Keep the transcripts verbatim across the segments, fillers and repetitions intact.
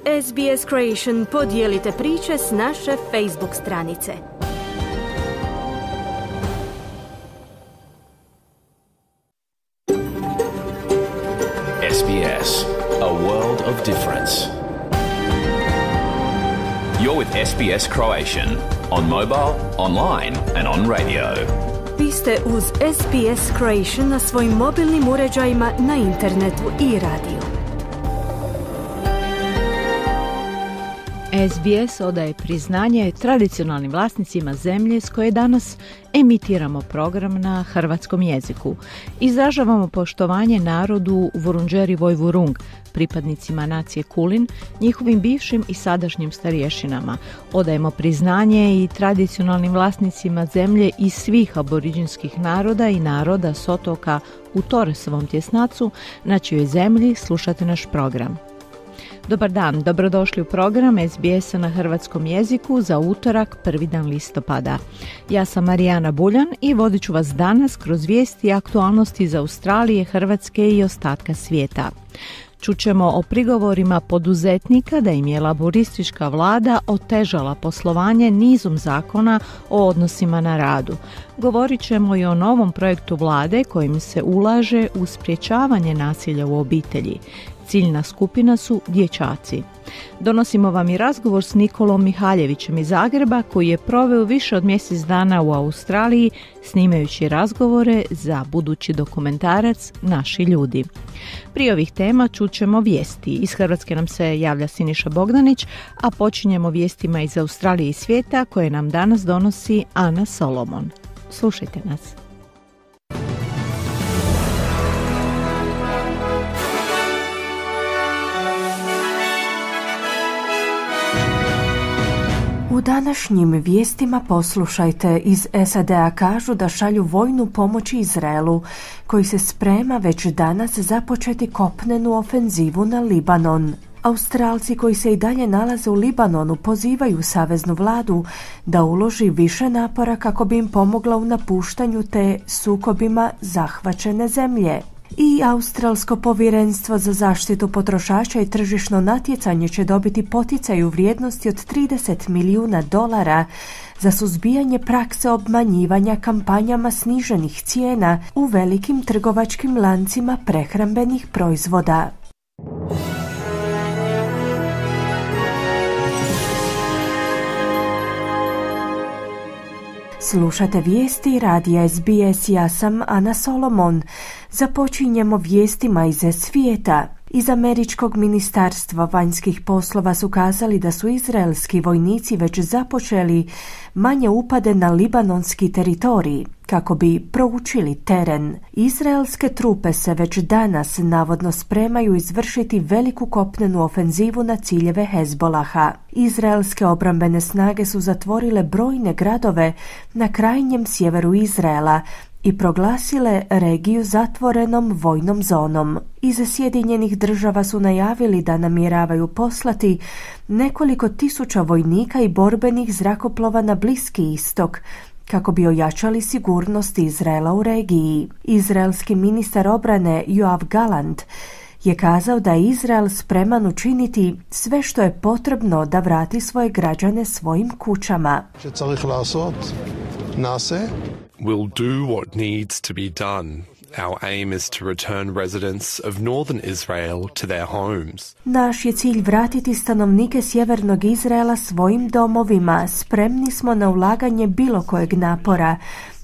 S B S Creation podijelite priče s naše Facebook stranice. S B S, a world of difference. You're with S B S Croatian on mobile, online and on radio. Vi ste uz S B S Croatian na svojim mobilnim uređajima, na internetu i radiju. S B S odaje priznanje tradicionalnim vlasnicima zemlje s koje danas emitiramo program na hrvatskom jeziku. Izražavamo poštovanje narodu Vurundjeri Vojvurung, pripadnicima nacije Kulin, njihovim bivšim i sadašnjim starješinama. Odajemo priznanje i tradicionalnim vlasnicima zemlje iz svih aboriđinskih naroda i naroda s otoka u Torresovom tjesnacu, na čijoj zemlji slušate naš program. Dobar dan, dobrodošli u program S B S-a na hrvatskom jeziku za utorak, prvi dan listopada. Ja sam Marijana Buljan i vodit ću vas danas kroz vijesti i aktualnosti iz Australije, Hrvatske i ostatka svijeta. Čućemo o prigovorima poduzetnika da im je laboristička vlada otežala poslovanje nizom zakona o odnosima na radu. Govorit ćemo i o novom projektu vlade kojim se ulaže u sprječavanje nasilja u obitelji. Ciljna skupina su dječaci. Donosimo vam i razgovor s Nikolom Mihaljevićem iz Zagreba, koji je proveo više od mjesec dana u Australiji snimajući razgovore za budući dokumentarac Naši ljudi. Prije ovih tema čućemo vijesti. Iz Hrvatske nam se javlja Siniša Bogdanić, a počinjemo vijestima iz Australije i svijeta koje nam danas donosi Ana Solomon. Slušajte nas. U današnjim vijestima poslušajte, iz S A D-a kažu da šalju vojnu pomoć Izraelu, koji se sprema već danas započeti kopnenu ofenzivu na Libanon. Australci koji se i dalje nalaze u Libanonu pozivaju saveznu vladu da uloži više napora kako bi im pomogla u napuštanju te sukobima zahvaćene zemlje. I Australsko povjerenstvo za zaštitu potrošača i tržišno natjecanje će dobiti poticaj u vrijednosti od trideset milijuna dolara za suzbijanje prakse obmanjivanja kampanjama sniženih cijena u velikim trgovačkim lancima prehrambenih proizvoda. Slušate vijesti radija S B S, ja sam Ana Solomon. Započinjemo vijestima iz svijeta. Iz Američkog ministarstva vanjskih poslova su kazali da su izraelski vojnici već započeli manje upade na libanonski teritorij kako bi proučili teren. Izraelske trupe se već danas navodno spremaju izvršiti veliku kopnenu ofenzivu na ciljeve Hezbolaha. Izraelske obrambene snage su zatvorile brojne gradove na krajnjem sjeveru Izraela i proglasile regiju zatvorenom vojnom zonom. Iz Sjedinjenih država su najavili da namjeravaju poslati nekoliko tisuća vojnika i borbenih zrakoplova na Bliski istok kako bi ojačali sigurnost Izraela u regiji. Izraelski ministar obrane Yoav Gallant je kazao da je Izrael spreman učiniti sve što je potrebno da vrati svoje građane svojim kućama. We'll do what needs to be done. Our aim is to return residents of northern Israel to their homes. Naš je cilj vratiti stanovnike sjevernog Izraela svojim domovima. Spremni smo na ulaganje bilo kojeg napora.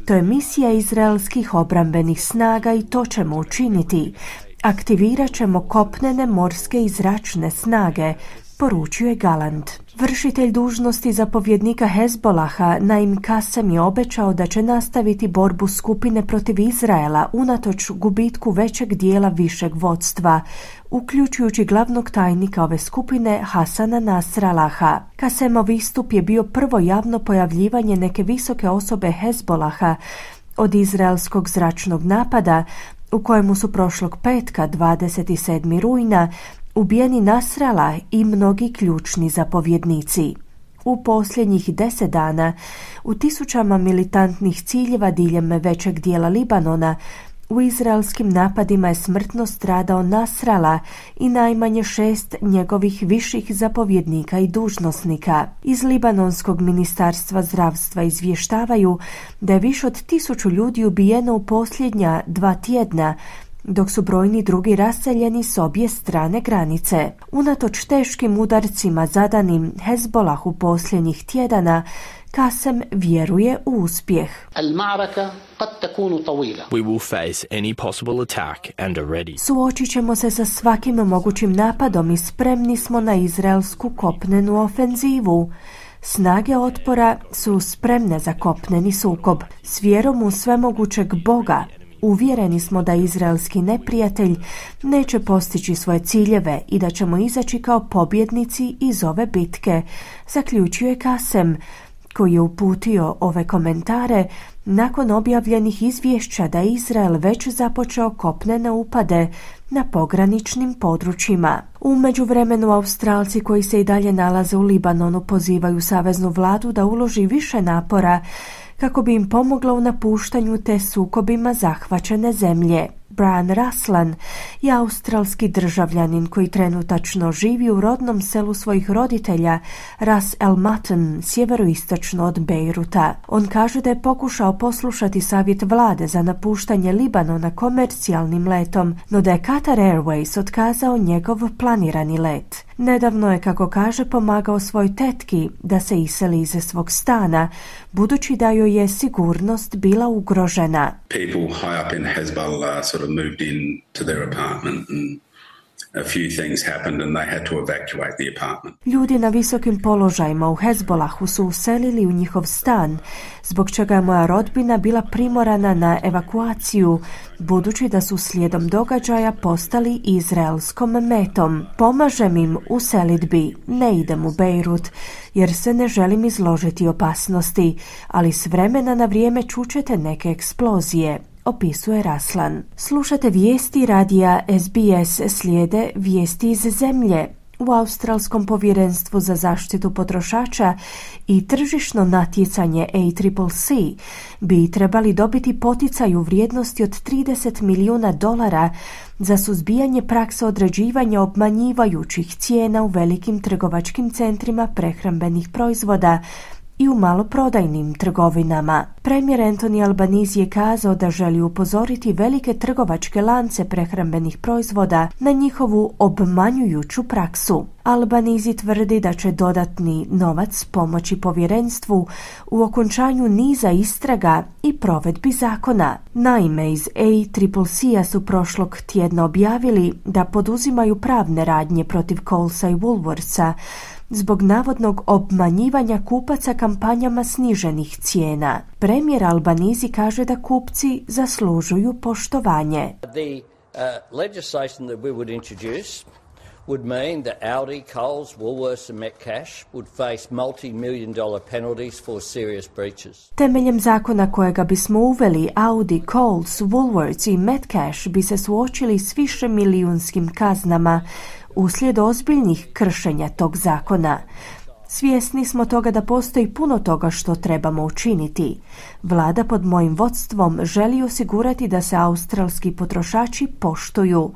To je misija izraelskih obrambenih snaga i to ćemo učiniti. Aktivirat ćemo kopnene, morske i zračne snage, poručio je Gallant. Vršitelj dužnosti zapovjednika Hezbolaha Naim Kasem je obećao da će nastaviti borbu skupine protiv Izraela unatoč gubitku većeg dijela višeg vodstva, uključujući glavnog tajnika ove skupine Hasana Nasralaha. Kasemov istup je bio prvo javno pojavljivanje neke visoke osobe Hezbolaha od izraelskog zračnog napada u kojemu su prošlog petka, dvadeset sedmog rujna, ubijeni Nasrallah i mnogi ključni zapovjednici. U posljednjih deset dana u tisućama militantnih ciljeva diljem većeg dijela Libanona U izraelskim napadima je smrtno stradao Nasrala i najmanje šest njegovih viših zapovjednika i dužnosnika. Iz Libanonskog ministarstva zdravstva izvještavaju da je više od tisuću ljudi ubijeno u posljednja dva tjedna, dok su brojni drugi raseljeni s obje strane granice. Unatoč teškim udarcima zadanim Hezbolahu posljednjih tjedana, Kasem vjeruje u uspjeh. We will face any possible attack and are ready. Suočit ćemo se sa svakim mogućim napadom i spremni smo na izraelsku kopnenu ofenzivu. Snage otpora su spremne za kopneni sukob. S vjerom u svemogućeg Boga uvjereni smo da izraelski neprijatelj neće postići svoje ciljeve i da ćemo izaći kao pobjednici iz ove bitke, zaključuje Kasem, koji je uputio ove komentare nakon objavljenih izvješća da je Izrael već započeo kopnene upade na pograničnim područjima. U međuvremenu Australci koji se i dalje nalaze u Libanonu pozivaju saveznu vladu da uloži više napora kako bi im pomogla u napuštanju te sukobima zahvaćene zemlje. Brian Raslan je australski državljanin koji trenutačno živi u rodnom selu svojih roditelja Ras El Matan, sjeveroistočno od Bejruta. On kaže da je pokušao poslušati savjet vlade za napuštanje Libanona komercijalnim letom, no da je Qatar Airways otkazao njegov planirani let. Nedavno je, kako kaže, pomagao svoj tetki da se iseli iz svog stana, budući da joj je sigurnost bila ugrožena. People high up in Hezbollah sort of moved in to their apartment and a few things happened and they had to evacuate the apartment. Ljudi na visokim položajima u Hezbolahu su uselili u njihov stan, zbog čega je moja rodbina bila primorana na evakuaciju, budući da su slijedom događaja postali izraelskom metom. Pomažem im u selidbi, ne idem u Bejrut, jer se ne želim izložiti opasnosti, ali s vremena na vrijeme čućete neke eksplozije, opisuje Raslan. Slušate vijesti radija S B S, slijede vijesti iz zemlje. U Australskom povjerenstvu za zaštitu potrošača i tržišno natjecanje A C C C bi trebali dobiti poticaj u vrijednosti od trideset milijuna dolara za suzbijanje prakse određivanja obmanjivajućih cijena u velikim trgovačkim centrima prehrambenih proizvoda i u maloprodajnim trgovinama. Premijer Anthony Albanese je kazao da želi upozoriti velike trgovačke lance prehrambenih proizvoda na njihovu obmanjujuću praksu. Albanese tvrdi da će dodatni novac pomoći povjerenstvu u okončanju niza istraga i provedbi zakona. Naime, iz A C C C-a su prošlog tjedna objavili da poduzimaju pravne radnje protiv Colesa i Woolworthsa zbog navodnog obmanjivanja kupaca kampanjama sniženih cijena. Premijer Albanese kaže da kupci zaslužuju poštovanje. The uh, legislation that we would introduce would mean that Aldi, Coles, Woolworths and Metcash would face multi-million dollar penalties for serious breaches. Temeljem zakona kojega bismo uveli, Audi, Coles, Woolworths i Metcash bi se suočili s više milijunskim kaznama uslijed ozbiljnih kršenja tog zakona. Svjesni smo toga da postoji puno toga što trebamo učiniti. Vlada pod mojim vodstvom želi osigurati da se australski potrošači poštuju.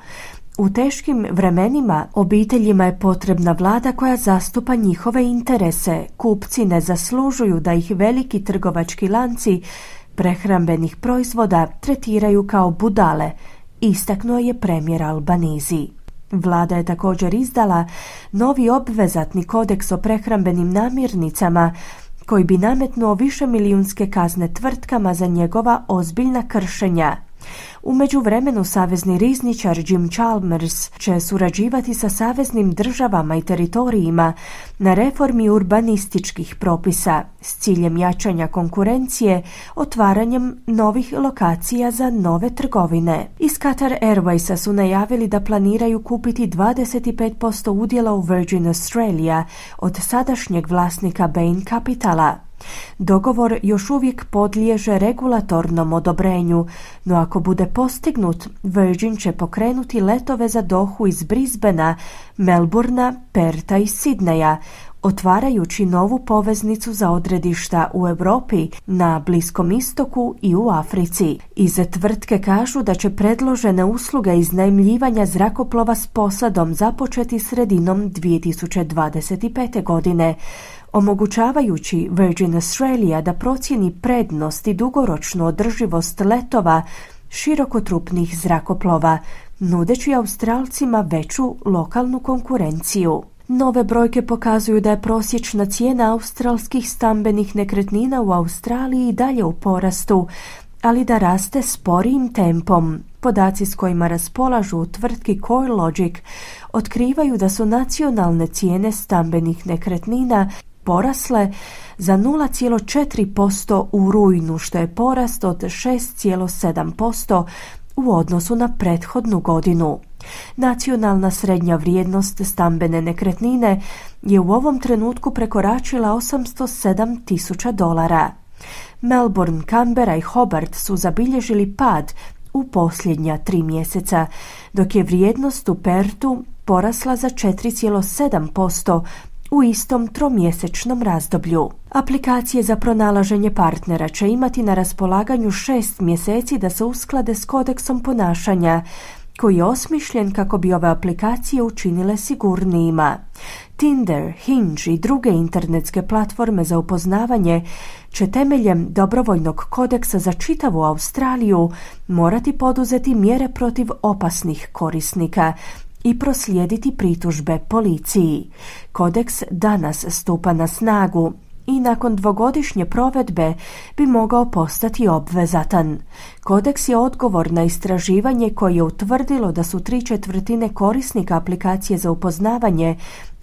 U teškim vremenima obiteljima je potrebna vlada koja zastupa njihove interese. Kupci ne zaslužuju da ih veliki trgovački lanci prehrambenih proizvoda tretiraju kao budale, istaknuo je premijer Albanese. Vlada je također izdala novi obvezatni kodeks o prehrambenim namirnicama koji bi nametnuo višemilijunske kazne tvrtkama za njegova ozbiljna kršenja. U međuvremenu savezni rizničar Jim Chalmers će surađivati sa saveznim državama i teritorijima na reformi urbanističkih propisa s ciljem jačanja konkurencije, otvaranjem novih lokacija za nove trgovine. Iz Qatar Airwaysa su najavili da planiraju kupiti dvadeset pet posto udjela u Virgin Australia od sadašnjeg vlasnika Bain Capitala. Dogovor još uvijek podliježe regulatornom odobrenju, no ako bude postignut, Virgin će pokrenuti letove za Dohu iz Brisbanea, Melbournea, Perta i Sidneja, otvarajući novu poveznicu za odredišta u Europi, na Bliskom istoku i u Africi. Iz tvrtke kažu da će predložene usluge iznajmljivanja zrakoplova s posadom započeti sredinom dvije tisuće dvadeset pete. godine, omogućavajući Virgin Australia da procijeni prednost i dugoročnu održivost letova širokotrupnih zrakoplova, nudeći Australcima veću lokalnu konkurenciju. Nove brojke pokazuju da je prosječna cijena australskih stambenih nekretnina u Australiji dalje u porastu, ali da raste sporijim tempom. Podaci s kojima raspolažu u tvrtki CoreLogic otkrivaju da su nacionalne cijene stambenih nekretnina porasle za nula zarez četiri posto u rujnu, što je porast od šest zarez sedam posto u odnosu na prethodnu godinu. Nacionalna srednja vrijednost stambene nekretnine je u ovom trenutku prekoračila osamsto sedam tisuća dolara. Melbourne, Canberra i Hobart su zabilježili pad u posljednja tri mjeseca, dok je vrijednost u Pertu porasla za četiri zarez sedam posto u istom tromjesečnom razdoblju. Aplikacije za pronalaženje partnera će imati na raspolaganju šest mjeseci da se usklade s kodeksom ponašanja, koji je osmišljen kako bi ove aplikacije učinile sigurnijima. Tinder, Hinge i druge internetske platforme za upoznavanje će temeljem dobrovoljnog kodeksa za čitavu Australiju morati poduzeti mjere protiv opasnih korisnika i proslijediti pritužbe policiji. Kodeks danas stupa na snagu i nakon dvogodišnje provedbe bi mogao postati obvezatan. Kodeks je odgovor na istraživanje koje je utvrdilo da su tri četvrtine korisnika aplikacije za upoznavanje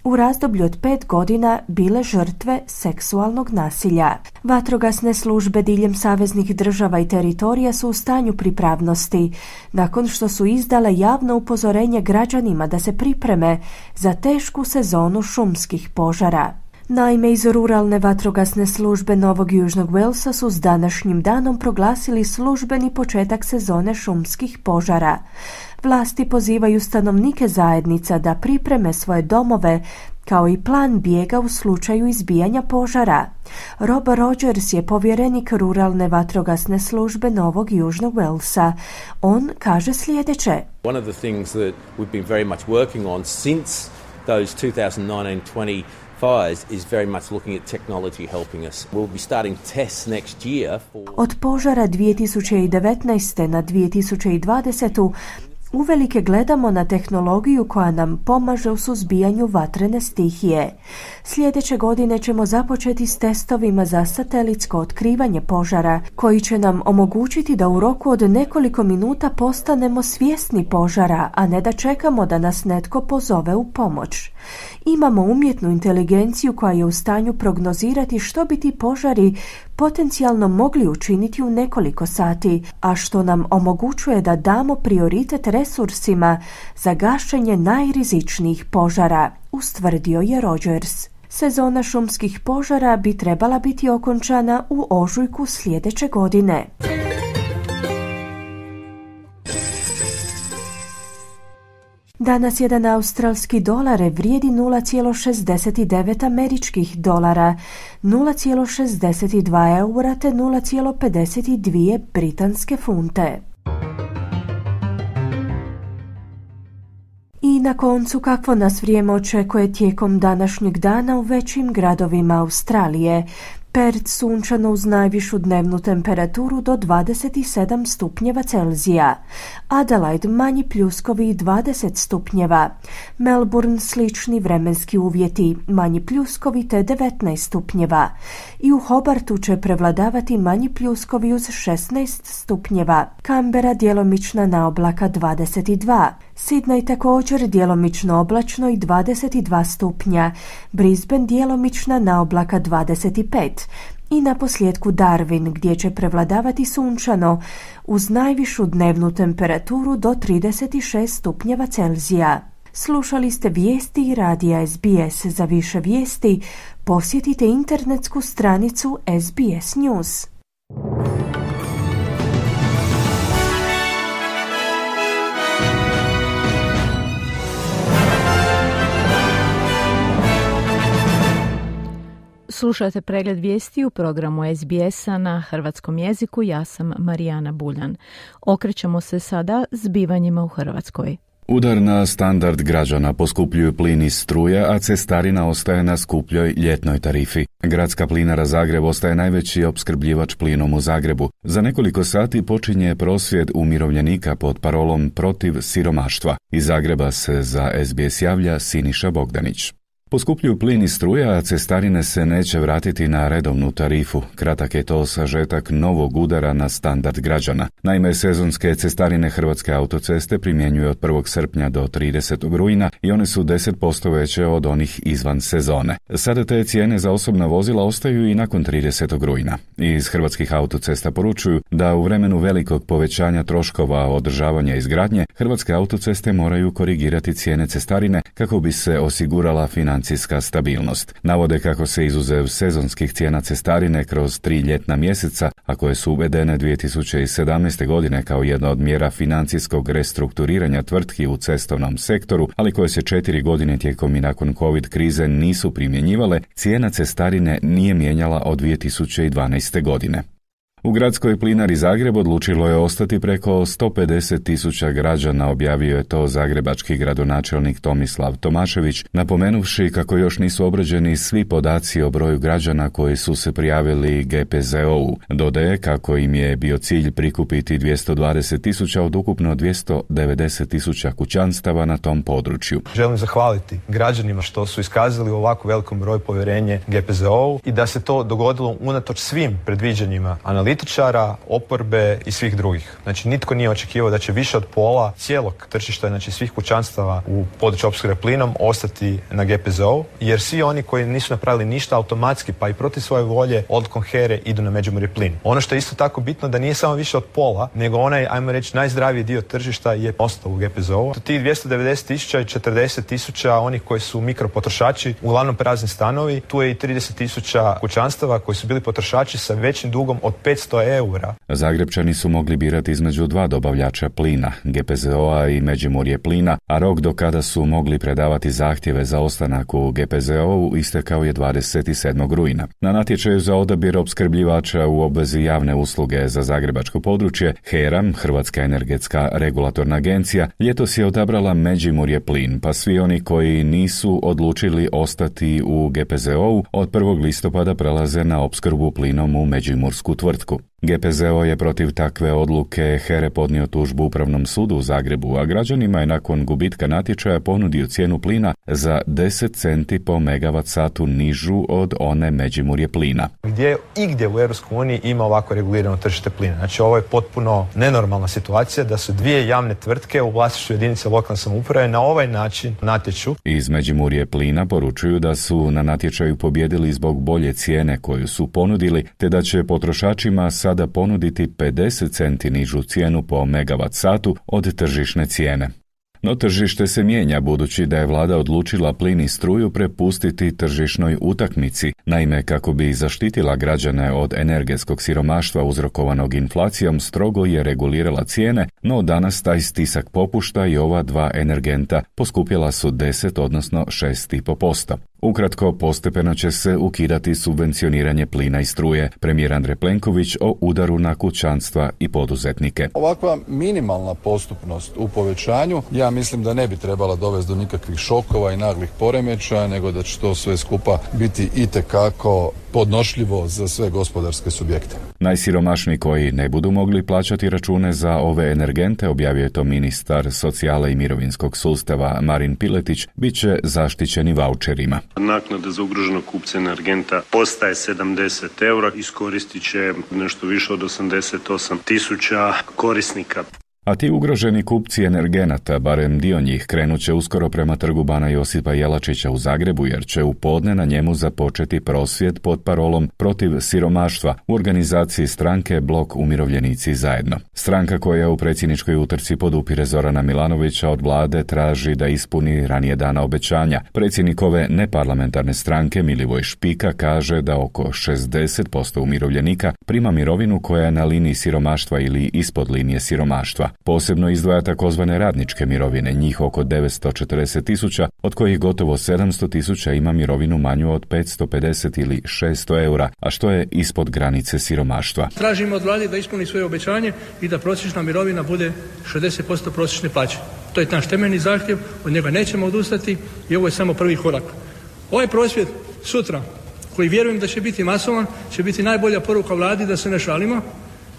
u razdoblju od pet godina bile žrtve seksualnog nasilja. Vatrogasne službe diljem saveznih država i teritorija su u stanju pripravnosti, nakon što su izdale javno upozorenje građanima da se pripreme za tešku sezonu šumskih požara. Naime, iz ruralne vatrogasne službe Novog Južnog Walesa su s današnjim danom proglasili službeni početak sezone šumskih požara. Vlasti pozivaju stanovnike zajednica da pripreme svoje domove kao i plan bijega u slučaju izbijanja požara. Rob Rogers je povjerenik ruralne vatrogasne službe Novog Južnog Walesa. On kaže sljedeće. One of the things that we've been very much working on since those two thousand nineteen twenty fires is very much looking at technology helping us. We'll be starting tests next year for... Od požara dvije tisuće devetnaeste. na dvije tisuće dvadesetu. Uvelike gledamo na tehnologiju koja nam pomaže u suzbijanju vatrene stihije. Sljedeće godine ćemo započeti s testovima za satelitsko otkrivanje požara, koji će nam omogućiti da u roku od nekoliko minuta postanemo svjesni požara, a ne da čekamo da nas netko pozove u pomoć. Imamo umjetnu inteligenciju koja je u stanju prognozirati što bi ti požari potencijalno mogli učiniti u nekoliko sati, a što nam omogućuje da damo prioritet resursima za gašenje najrizičnijih požara, ustvrdio je Rogers. Sezona šumskih požara bi trebala biti okončana u ožujku sljedeće godine. Danas jedan australski dolar vrijedi nula zarez šezdeset devet američkih dolara, nula zarez šezdeset dva eura te nula zarez pedeset dvije britanske funte. I na koncu, kakvo nas vrijeme očekuje tijekom današnjeg dana u većim gradovima Australije. Perth sunčano uz najvišu dnevnu temperaturu do dvadeset sedam stupnjeva Celzija. Adelaide manji pljuskovi i dvadeset stupnjeva. Melbourne slični vremenski uvjeti, manji pljuskovi te devetnaest stupnjeva. I u Hobartu će prevladavati manji pljuskovi uz šesnaest stupnjeva. Canberra djelomična naoblaka dvadeset dva. Sydney također djelomično oblačno i dvadeset dva stupnja. Brisbane djelomična naoblaka dvadeset pet. I na posljedku Darwin, gdje će prevladavati sunčano uz najvišu dnevnu temperaturu do trideset šest stupnjeva Celzija. Slušali ste vijesti i radija S B S. Za više vijesti posjetite internetsku stranicu S B S News. Slušate pregled vijesti u programu S B S-a na hrvatskom jeziku. Ja sam Marijana Buljan. Okrećemo se sada zbivanjima u Hrvatskoj. Udar na standard građana, poskupljuju plin i struja, a cestarina ostaje na skupljoj ljetnoj tarifi. Gradska plinara Zagreb ostaje najveći opskrbljivač plinom u Zagrebu. Za nekoliko sati počinje prosvjed umirovljenika pod parolom protiv siromaštva. Iz Zagreba se za S B S javlja Siniša Bogdanić. Poskupljuju plin i struja, a cestarine se neće vratiti na redovnu tarifu. Kratak je to sažetak novog udara na standard građana. Naime, sezonske cestarine Hrvatske autoceste primjenjuju od prvog srpnja do tridesetog rujna i one su deset posto veće od onih izvan sezone. Sada te cijene za osobna vozila ostaju i nakon tridesetog rujna. Iz Hrvatskih autocesta poručuju da u vremenu velikog povećanja troškova održavanja i izgradnje, Hrvatske autoceste moraju korigirati cijene cestarine kako bi se osigurala financijska stabilnost. Navode kako se izuzev sezonskih cijena cestarine kroz tri ljetna mjeseca, a koje su uvedene dvije tisuće sedamnaeste. godine kao jedna od mjera financijskog restrukturiranja tvrtki u cestovnom sektoru, ali koje se četiri godine tijekom i nakon COVID krize nisu primjenjivale, cijena cestarine nije mijenjala od dvije tisuće dvanaeste. godine. U gradskoj plinari Zagreb odlučilo je ostati preko sto pedeset tisuća građana, objavio je to zagrebački gradonačelnik Tomislav Tomašević, napomenuvši kako još nisu obrađeni svi podaci o broju građana koji su se prijavili G P Z O-u. Dodaje kako im je bio cilj prikupiti dvjesto dvadeset tisuća od ukupno dvjesto devedeset tisuća kućanstava na tom području. Želim zahvaliti građanima što su iskazali u ovako velikom broju povjerenje G P Z O-u i da se to dogodilo unatoč svim predviđanjima analitičara, oporbe i svih drugih. Znači, nitko nije očekivao da će više od pola cijelog tržišta, znači svih kućanstava u području opskrbe plinom ostati na G P Z O, jer svi oni koji nisu napravili ništa automatski, pa i protiv svoje volje, odlukom HERE idu na Međimurje plin. Ono što je isto tako bitno da nije samo više od pola, nego onaj, ajmo reći, najzdraviji dio tržišta je ostao u G P Z O. Tih dvjesto devedeset tisuća i četrdeset tisuća onih koji su mikropotrošači, uglavnom prazni stanovi, tu je i trideset tisuća kućanstava koji su bili potrošači sa većim dugom od petsto eura. Zagrebčani su mogli birati između dva dobavljača plina, G P Z O-a i Međimurje plina, a rok do kada su mogli predavati zahtjeve za ostanak u G P Z O-u istekao je dvadeset sedmog rujna. Na natječaju za odabir opskrbljivača u obvezi javne usluge za zagrebačko područje, HERA, Hrvatska energetska regulatorna agencija, ljetos je odabrala Međimurje plin, pa svi oni koji nisu odlučili ostati u G P Z O-u od prvog listopada prelaze na opskrbu plinom u međimursku tvrtku. G P Z O je protiv takve odluke HERE podnio tužbu Upravnom sudu u Zagrebu, a građanima je nakon gubitka natječaja ponudio cijenu plina za deset centi po megavat satu nižu od one Međimurje plina. Gdje igdje u Europskoj uniji ima ovako regulirano tržište plina. Znači, ovo je potpuno nenormalna situacija da su dvije javne tvrtke u vlasništvu jedinice lokalne samouprave na ovaj način natječu. Iz Međimurje plina poručuju da su na natječaju pobijedili zbog bolje cijene koju su ponudili, te da će potrošačima sada da ponuditi pedeset centi nižu cijenu po megavat satu od tržišne cijene. No tržište se mijenja budući da je vlada odlučila plin i struju prepustiti tržišnoj utakmici. Naime, kako bi zaštitila građane od energetskog siromaštva uzrokovanog inflacijom, strogo je regulirala cijene, no danas taj stisak popušta i ova dva energenta poskupjela su deset odnosno šest zarez pet posto. Ukratko, postepeno će se ukidati subvencioniranje plina i struje. Premijer Andrej Plenković o udaru na kućanstva i poduzetnike. Ovakva minimalna postupnost u povećanju, ja mislim da ne bi trebala dovesti do nikakvih šokova i naglih poremećaja, nego da će to sve skupa biti itekako podnošljivo za sve gospodarske subjekte. Najsiromašniji koji ne budu mogli plaćati račune za ove energente, objavio je to ministar socijale i mirovinskog sustava Marin Piletić, bit će zaštićeni vaučerima. Naknada za ugroženog kupca energenta postaje sedamdeset eura, iskoristit će nešto više od osamdeset osam tisuća korisnika. A ti ugroženi kupci energenata, barem dio njih, krenut će uskoro prema trgu Bana Josipa Jelačića u Zagrebu, jer će u podne na njemu započeti prosvjed pod parolom protiv siromaštva u organizaciji stranke Blok umirovljenici zajedno. Stranka koja u predsjedničkoj utrci podupire Zorana Milanovića od vlade traži da ispuni ranije dana obećanja. Predsjednik ove neparlamentarne stranke Milivoj Špika kaže da oko šezdeset posto umirovljenika prima mirovinu koja je na liniji siromaštva ili ispod linije siromaštva. Posebno izdvaja takozvane radničke mirovine, njih oko devetsto četrdeset tisuća, od kojih gotovo sedamsto tisuća ima mirovinu manju od petsto pedeset ili šesto eura, a što je ispod granice siromaštva. Tražimo od vlade da ispuni svoje obećanje i da prosječna mirovina bude šezdeset posto prosječne plaće. To je naš temeljni zahtjev, od njega nećemo odustati i ovo je samo prvi korak. Ovaj prosvjed sutra, koji vjerujem da će biti masovan, će biti najbolja poruka vladi da se ne šalimo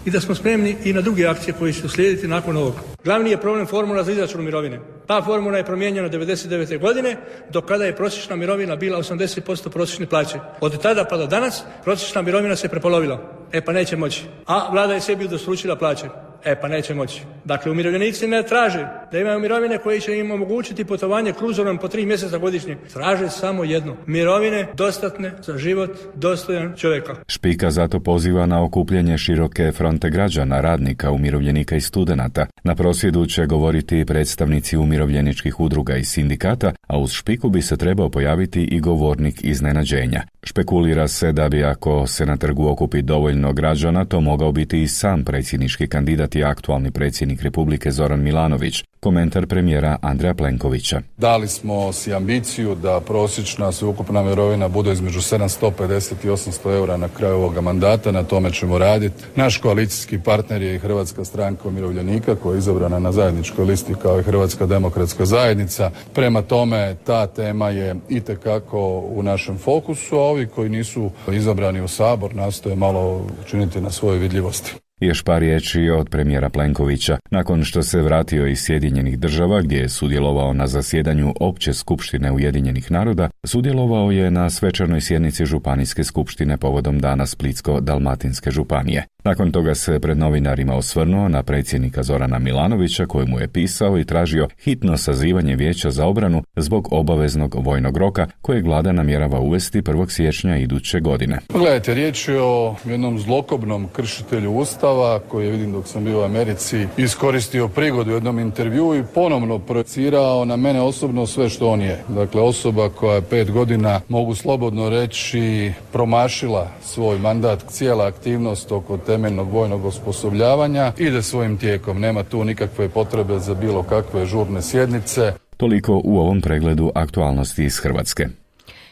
i da smo spremni i na druge akcije koje će uslijediti nakon ovoga. Glavni je problem formula za izračun mirovine. Ta formula je promijenjena devedeset devete godine, do kada je prosječna mirovina bila osamdeset posto prosječne plaće. Od tada pa do danas prosječna mirovina se prepolovila. E pa neće moći. A vlada je sebi udvostručila plaće. E pa neće moći. Dakle, umirovljenici ne traže da imaju mirovine koje će im omogućiti putovanje kruzorom po tri mjeseca godišnje. Traže samo jedno. Mirovine dostatne za život dostojan čovjeka. Špika zato poziva na okupljanje široke fronte građana, radnika, umirovljenika i studenata. Na prosvjedu će govoriti predstavnici umirovljeničkih udruga i sindikata, a uz Špiku bi se trebao pojaviti i govornik iznenađenja. Špekulira se da bi, ako se na trgu okupi dovoljno građana, to mogao biti i sam predsjednički kandidat i aktualni predsjednik Republike Zoran Milanović. Komentar premijera Andreja Plenkovića. Dali smo si ambiciju da prosječna sveukupna mirovina bude između sedamsto pedeset i osamsto eura na kraju ovoga mandata, na tome ćemo raditi. Naš koalicijski partner je i Hrvatska stranka umirovljenika koja je izabrana na zajedničkoj listi kao i Hrvatska demokratska zajednica. Prema tome ta tema je itekako u našem fokusu, a ovi koji nisu izabrani u Sabor nastoje malo učiniti na svojoj vidljivosti. Još par riječi od premijera Plenkovića. Nakon što se vratio iz Sjedinjenih država, gdje je sudjelovao na zasjedanju Opće skupštine Ujedinjenih naroda, sudjelovao je na svečanoj sjednici Županijske skupštine povodom Dana Splitsko-dalmatinske županije. Nakon toga se pred novinarima osvrnuo na predsjednika Zorana Milanovića, kojemu je pisao i tražio hitno sazivanje Vijeća za obranu zbog obaveznog vojnog roka kojeg vlada namjerava uvesti prvog siječnja iduće godine. Gledajte, riječ je o jednom zlokobnom kršitelju Ustava koji je, vidim dok sam bio u Americi, iskoristio prigodu u jednom intervjuu i ponovno projecirao na mene osobno sve što on je. Dakle, osoba koja je pet godina, mogu slobodno reći, promašila svoj mandat, cijela aktivnost oko temeljnog vojnog osposobljavanja ide svojim tijekom. Nema tu nikakve potrebe za bilo kakve žurne sjednice. Toliko u ovom pregledu aktualnosti iz Hrvatske.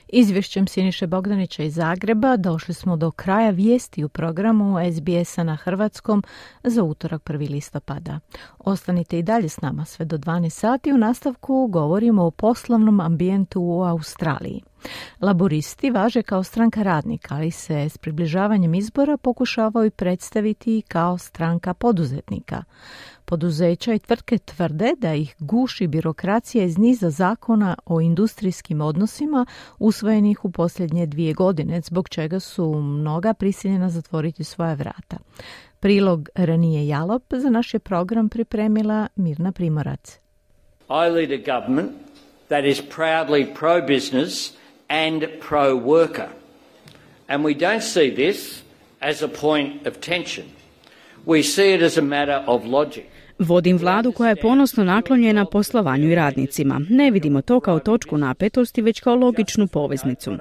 Izvješćem Siniše Bogdanića iz Zagreba došli smo do kraja vijesti u programu es be es-a na hrvatskom za utorak prvog listopada. Ostanite i dalje s nama sve do dvanaest sati. U nastavku govorimo o poslovnom ambijentu u Australiji. Laboristi važe kao stranka radnika, ali se s približavanjem izbora pokušavaju predstaviti kao stranka poduzetnika. Poduzeća i tvrtke tvrde da ih guši birokracija iz niza zakona o industrijskim odnosima usvojenih u posljednje dvije godine, zbog čega su mnoga prisiljena zatvoriti svoja vrata. Prilog Ranije Jalop za naš je program pripremila Mirna Primorac. I lead a government that is proudly pro-business and pro-worker. And we don't see this as a point of tension. We see it as a matter of logic. Vodim vladu koja je ponosno naklonjena poslovanju i radnicima. Ne vidimo to kao točku napetosti, već kao logičnu poveznicu.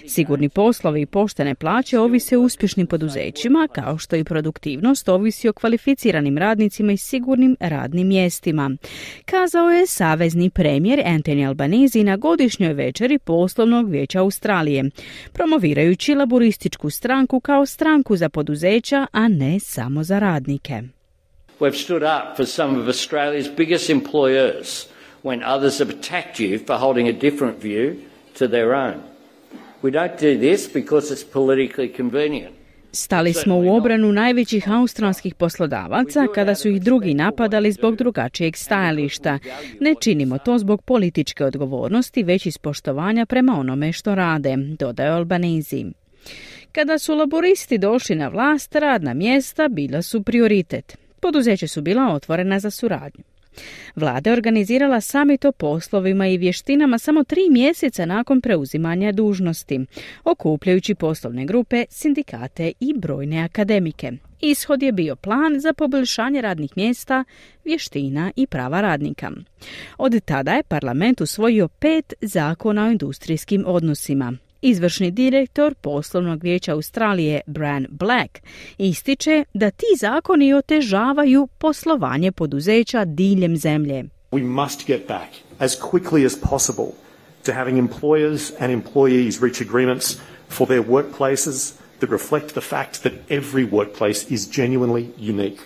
Sigurni poslovi i poštene plaće ovise o uspješnim poduzećima, kao što i produktivnost ovisi o kvalificiranim radnicima i sigurnim radnim mjestima. Kazao je savezni premijer Anthony Albanese na godišnjoj večeri Poslovnog vijeća Australije, promovirajući laborističku stranku kao stranku za poduzeća, a ne samo za radnike. We've stood up for some of Australia's biggest employers when others have attacked you for holding a different view to their own. We don't do this because it's politically convenient. Stali smo u obranu najvećih australskih poslodavaca kada su ih drugi napadali zbog drugačijeg stajališta. Ne činimo to zbog političke odgovornosti, već iz poštovanja prema onome što rade, dodao Albanese. Kada su laboristi došli na vlast, radna mjesta bila su prioritet. Poduzeća su bila otvorena za suradnju. Vlada je organizirala summit o poslovima i vještinama samo tri mjeseca nakon preuzimanja dužnosti, okupljajući poslovne grupe, sindikate i brojne akademike. Ishod je bio plan za poboljšanje radnih mjesta, vještina i prava radnika. Od tada je parlament usvojio pet zakona o industrijskim odnosima. Izvršni direktor poslovnog vijeća Australije Bran Black ističe da ti zakoni otežavaju poslovanje poduzeća diljem zemlje. We must get back as quickly as possible to having employers and employees reach agreements for their workplaces that reflect the fact that every workplace is genuinely unique,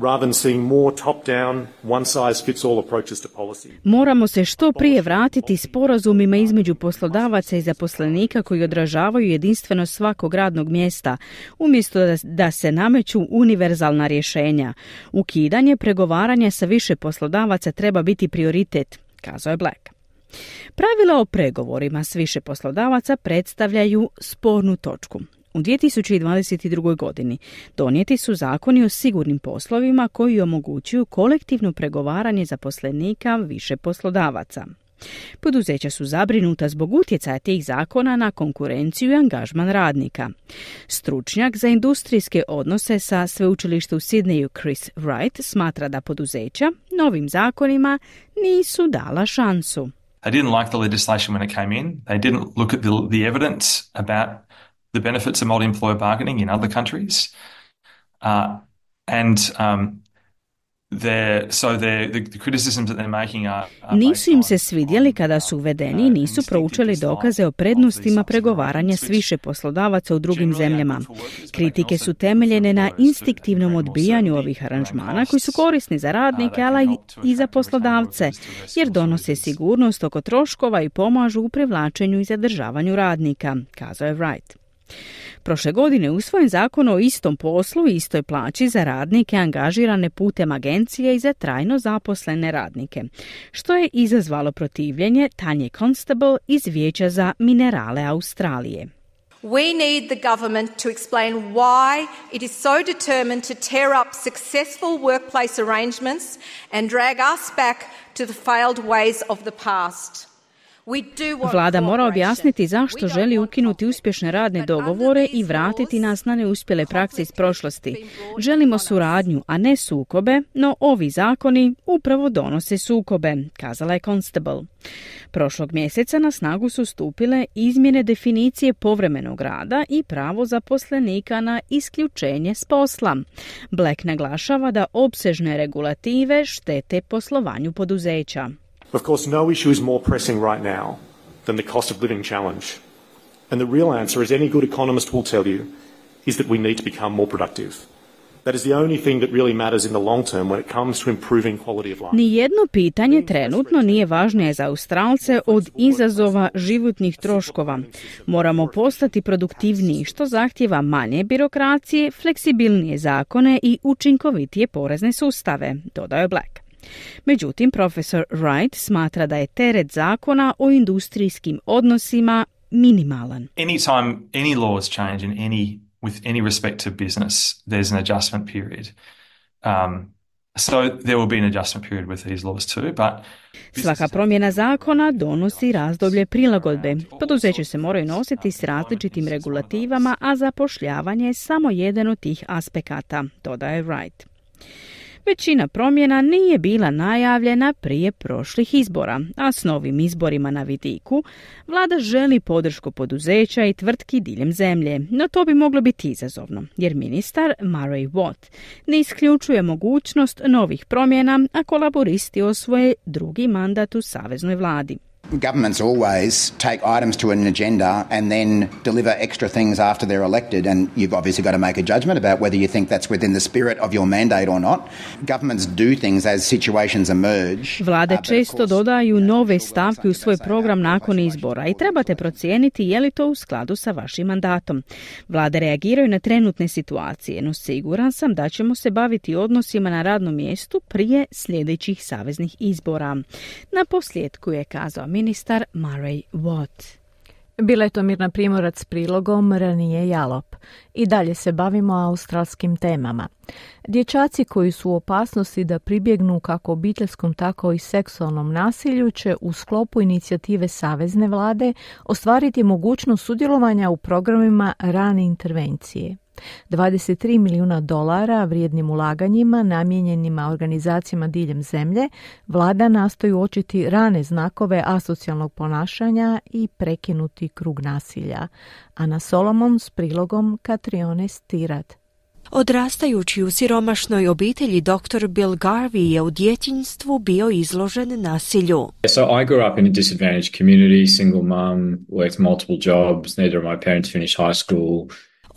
rather than seeing more top-down, one-size-fits-all approaches to policy. Moramo se što prije vratiti sporazumima između poslodavaca i zaposlenika koji odražavaju jedinstvenost svakog radnog mjesta, umjesto da, da se nameću univerzalna rješenja. Ukidanje pregovaranja sa više poslodavaca treba biti prioritet, kazao je Black. Pravila o pregovorima s više poslodavaca predstavljaju spornu točku. U dvije tisuće dvadeset druge. godini donijeti su zakoni o sigurnim poslovima koji omogućuju kolektivno pregovaranje zaposlenika više poslodavaca. Poduzeća su zabrinuta zbog utjecaja tih zakona na konkurenciju i angažman radnika. Stručnjak za industrijske odnose sa sveučilišta u Sidneyu Chris Wright smatra da poduzeća novim zakonima nisu dala šansu. They didn't like the legislation when it came in. They didn't look at the, the evidence about the benefits of multi-employer bargaining in other countries. Uh, and um, so the, the criticisms that they're making are, are Nisu im se svidjeli kada su uvedeni i nisu proučili dokaze o prednostima pregovaranja s više poslodavaca u drugim zemljama. Kritike su temeljene na instinktivnom odbijanju ovih aranžmana koji su korisni za radnike, ali i za poslodavce, jer donose sigurnost oko troškova i pomažu u privlačenju i zadržavanju radnika, kazao je Wright. Prošle godine usvojen zakon o istom poslu i istoj plaći za radnike angažirane putem agencije i za trajno zaposlene radnike, što je izazvalo protivljenje Tanje Constable iz Vijeća za minerale Australije. We need the government to explain why it is so determined to tear up successful workplace arrangements and drag us back to the failed ways of the past. Vlada mora objasniti zašto želi ukinuti uspješne radne dogovore i vratiti nas na neuspjele prakse iz prošlosti. Želimo suradnju, a ne sukobe, no ovi zakoni upravo donose sukobe, kazala je Constable. Prošlog mjeseca na snagu su stupile izmjene definicije povremenog rada i pravo zaposlenika na isključenje s posla. Black naglašava da opsežne regulative štete poslovanju poduzeća. Of course, no issue is more pressing right now than the cost of living challenge. And the real answer, as any good economist will tell you, is that we need to become more productive. That is the only thing that really matters in the long term when it comes to improving quality of life. Nijedno pitanje trenutno nije važnije za Australce od izazova životnih troškova. Moramo postati produktivniji, što zahtjeva manje birokracije, fleksibilnije zakone i učinkovitije porezne sustave, dodao je Black. Međutim, profesor Wright smatra da je teret zakona o industrijskim odnosima minimalan. Anytime any laws change in any with any respect to business, there's an adjustment period. Um, so there will be an adjustment period with these laws too, but svaka promjena zakona donosi razdoblje prilagodbe. Poduzeće se moraju nositi s različitim regulativama, a zapošljavanje je samo jedan od tih aspekata, dodaje Wright. Većina promjena nije bila najavljena prije prošlih izbora, a s novim izborima na vidiku vlada želi podršku poduzeća i tvrtki diljem zemlje, no to bi moglo biti izazovno, jer ministar Murray Watt ne isključuje mogućnost novih promjena ako laboristi osvoje drugi mandat u saveznoj vladi. Governments always take items to an agenda and then deliver extra things after they're elected, and you've obviously got to make a judgment about whether you think that's within the spirit of your mandate or not. Governments do things as situations emerge. Vlade često dodaju nove stavke u svoj program nakon izbora i trebate procijeniti je li to u skladu sa vašim mandatom. Vlade reagiraju na trenutne situacije, no siguran sam da ćemo se baviti odnosima na radnom mjestu prije sljedećih saveznih izbora. Na posljedku je kazao ministar Murray Watt. Bila je to Mirna Primorac s prilogom Ranije Jalop. I dalje se bavimo australskim temama. Dječaci koji su u opasnosti da pribjegnu kako obiteljskom tako i seksualnom nasilju će u sklopu inicijative Savezne vlade ostvariti mogućnost sudjelovanja u programima rane intervencije. dvadeset tri milijuna dolara vrijednim ulaganjima namijenjenima organizacijama diljem zemlje, vlada nastoji uočiti rane znakove asocijalnog ponašanja i prekinuti krug nasilja. Ana Solomon s prilogom Katrione Stirat. Odrastajući u siromašnoj obitelji, doktor Bill Garvey je u djetinjstvu bio izložen nasilju. So I grew up in a disadvantaged community, single mum, worked multiple jobs, neither of my parents finished high school.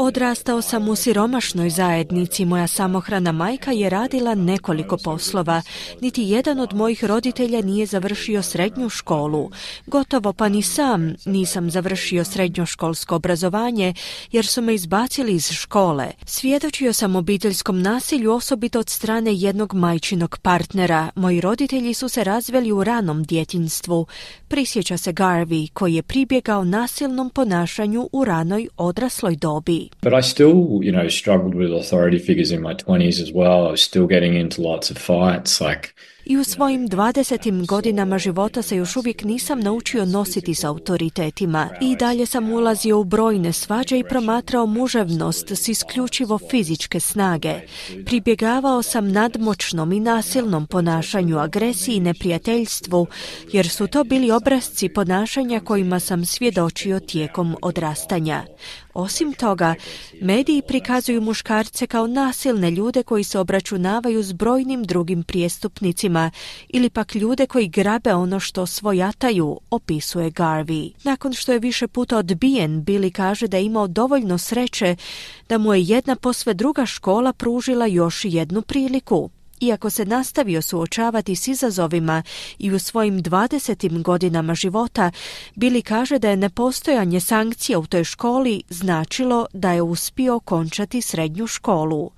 Odrastao sam u siromašnoj zajednici. Moja samohrana majka je radila nekoliko poslova. Niti jedan od mojih roditelja nije završio srednju školu. Gotovo pa ni sam nisam završio srednjoškolsko obrazovanje jer su me izbacili iz škole. Svjedočio sam obiteljskom nasilju osobito od strane jednog majčinog partnera. Moji roditelji su se razveli u ranom djetinjstvu. Prisjeća se Garvey koji je pribjegao nasilnom ponašanju u ranoj odrasloj dobi. But I still, you know, struggled with authority figures in my twenties as well. I was still getting into lots of fights, like... I u svojim dvadesetim godinama života se još uvijek nisam naučio nositi s autoritetima. I dalje sam ulazio u brojne svađe i promatrao muževnost s isključivo fizičke snage. Pribjegavao sam nadmoćnom i nasilnom ponašanju, agresiji i neprijateljstvu, jer su to bili obrasci ponašanja kojima sam svjedočio tijekom odrastanja. Osim toga, mediji prikazuju muškarce kao nasilne ljude koji se obračunavaju s brojnim drugim prijestupnicima ili pak ljude koji grabe ono što svojataju, opisuje Garvey. Nakon što je više puta odbijen, Billy kaže da je imao dovoljno sreće da mu je jedna posve druga škola pružila još jednu priliku. Iako se nastavio suočavati s izazovima i u svojim dvadesetim godinama života, Billy kaže da je nepostojanje sankcija u toj školi značilo da je uspio okončati srednju školu.